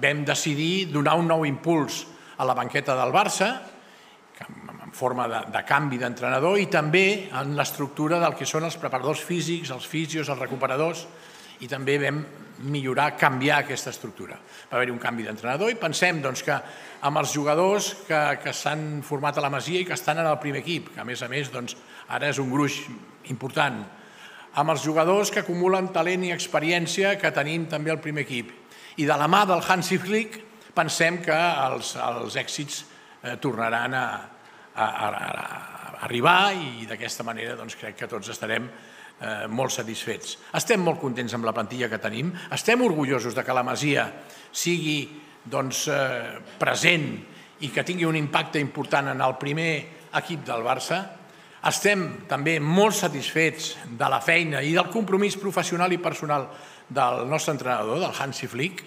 Vam decidir donar un nou impuls a la banqueta del Barça, en forma de canvi d'entrenador, i també en l'estructura del que són els preparadors físics, els fisios, els recuperadors, i també vam millorar, canviar aquesta estructura. Va haver-hi un canvi d'entrenador i pensem que amb els jugadors que s'han format a la Masia i que estan en el primer equip, que a més ara és un gruix important, amb els jugadors que acumulen talent i experiència que tenim també al primer equip. I de la mà del Hansi Flick pensem que els èxits tornaran a arribar i d'aquesta manera crec que tots estarem molt satisfets. Estem molt contents amb la plantilla que tenim, estem orgullosos que la Masia sigui present i que tingui un impacte important en el primer equip del Barça. Estem també molt satisfets de la feina i del compromís professional i personal del nostre entrenador, del Hansi Flick,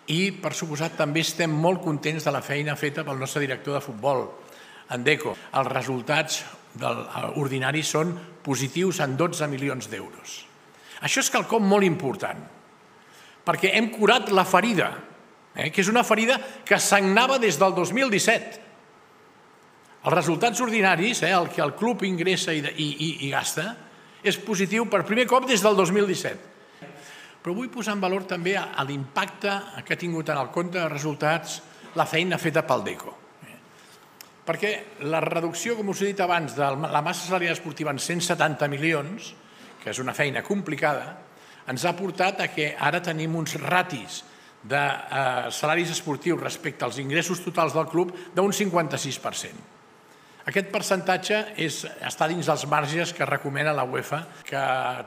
i per suposat també estem molt contents de la feina feta pel nostre director de futbol, en Deco. Els resultats ordinaris són positius en 12 milions d'euros. Això és quelcom molt important, perquè hem curat la ferida, que és una ferida que sagnava des del 2017. Els resultats ordinaris, el que el club ingressa i gasta, és positiu per primer cop des del 2017. Però vull posar en valor també l'impacte que ha tingut en el compte de resultats la feina feta pel Deco. Perquè la reducció, com us he dit abans, de la massa salarial esportiva en 170 milions, que és una feina complicada, ens ha portat a que ara tenim uns ratis de salaris esportius respecte als ingressos totals del club d'un 56%. Aquest percentatge està dins dels marges que recomana la UEFA, que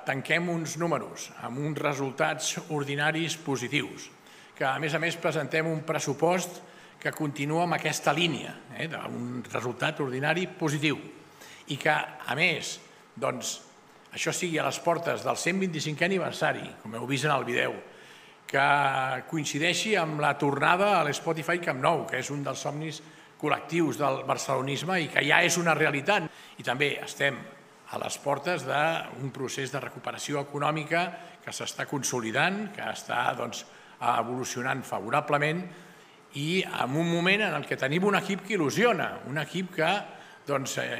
tanquem uns números amb uns resultats ordinaris positius, que a més presentem un pressupost que continua amb aquesta línia, d'un resultat ordinari positiu, i que, a més, això sigui a les portes del 125è aniversari, com heu vist en el vídeo, que coincideixi amb la tornada a l'Spotify Camp Nou, que és un dels somnis col·lectius del barcelonisme i que ja és una realitat. I també estem a les portes d'un procés de recuperació econòmica que s'està consolidant, que està evolucionant favorablement i en un moment en què tenim un equip que il·lusiona, un equip que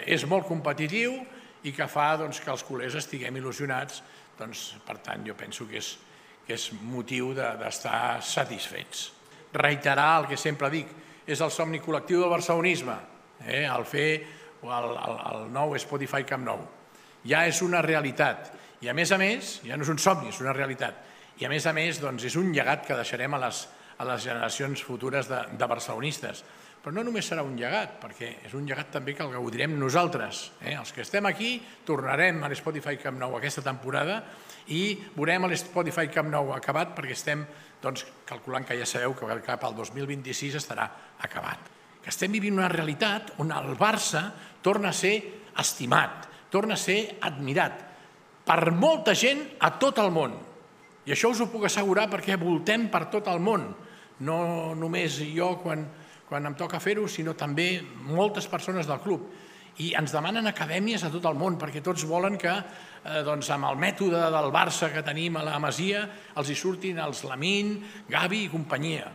és molt competitiu i que fa que els culers estiguem il·lusionats. Per tant, jo penso que és motiu d'estar satisfets. Reiterar el que sempre dic, és el somni col·lectiu del barcelonisme, el fer el nou Spotify Camp Nou. Ja és una realitat i, a més, ja no és un somni, és una realitat. I, a més, és un llegat que deixarem a les generacions futures de barcelonistes. Però no només serà un llegat, perquè és un llegat també que el gaudirem nosaltres. Els que estem aquí tornarem a l'Spotify Camp Nou aquesta temporada i veurem l'Spotify Camp Nou acabat perquè estem calculant que ja sabeu que cap al 2026 estarà acabat. Que estem vivint una realitat on el Barça torna a ser estimat, torna a ser admirat per molta gent a tot el món. I això us ho puc assegurar perquè voltem per tot el món. No només jo quan em toca fer-ho, sinó també moltes persones del club. I ens demanen acadèmies a tot el món, perquè tots volen que amb el mètode del Barça que tenim a la Masia els hi surtin els Lamine, Gavi i companyia.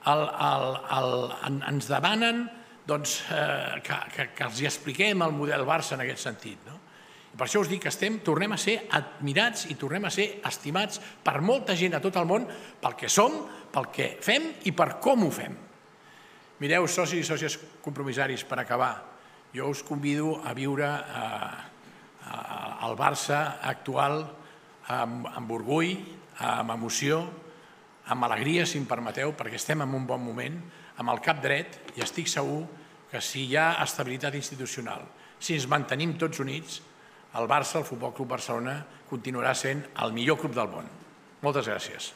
Ens demanen que els hi expliquem el model Barça en aquest sentit. Per això us dic que tornem a ser admirats i tornem a ser estimats per molta gent a tot el món pel que som, pel que fem i per com ho fem. Mireu, socis i sòcies compromissaris, per acabar, jo us convido a viure el Barça actual amb orgull, amb emoció, amb alegria, si em permeteu, perquè estem en un bon moment, amb el cap dret, i estic segur que si hi ha estabilitat institucional, si ens mantenim tots units, el Barça, el Futbol Club Barcelona, continuarà sent el millor club del món. Moltes gràcies.